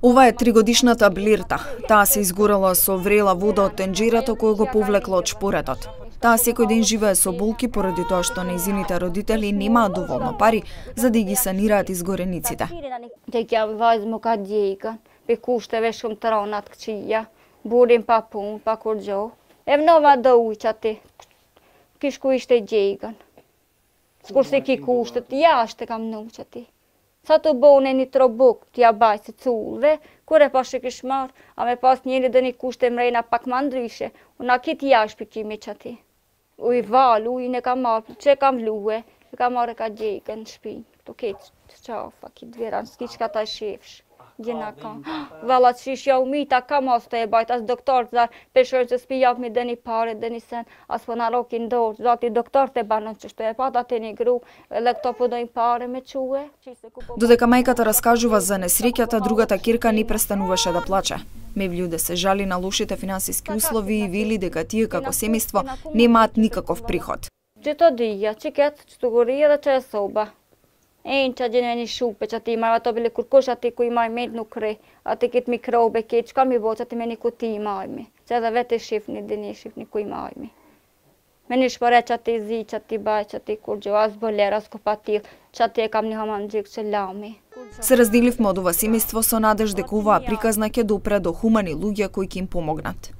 Ова е 3-годишната Блирта. Таа се изгорела со врела вода од тенџерето кој го повлекло од шпоретот. Таа секој ден живее со болки поради тоа што нејзините родители немаат доволно пари за да ги санираат изгорениците. Skursikin kuustet jäästekam nuutsati. Satu bouneni trobuk tia baise tsuulve, kure pasike smar, ame pas nieli deni kuustem reina pak mandrishe, una kit jääspiki mechati. Ui valu, ui neka mar, tsekam lue, neka mareka jeiken spin. To kit tsafa, kit veran skitskata shefsh. Jenaka. Valat shish jau mita kamosta e bajt as doktor za peshër se spijap mi deni pare deni sen as po na rokin dorë zati doktor te banon që shto e pata te një gru edhe këto po dojnë pare me quhe. Додека мајката раскажува за несреќата, другата ќерка не престануваше да плаче. Мевљуде се жали на лошите финансиски услови и вели дека тие како семејство немаат никаков приход. Çdo dia, çiket, çtuguria dhe çe soba. Që gjenë një shupe që ati marrë ato bile kur kush ati ku i marrë me nuk kre, ati kitë mikrobe kitë, që ka mi bo që ati me një kuti i marrëmi, që edhe vete shifni, dhe një shifni ku i marrëmi. Me një shpore që ati zi, që ati baj, që ati kur gjo, as boler, as kopatil, që ati e kam një haman gjikë që lami. Се разделивме од ова семејство со надеж дека оваа приказна ќе допре до хумани луѓе кои ќе им помогнат.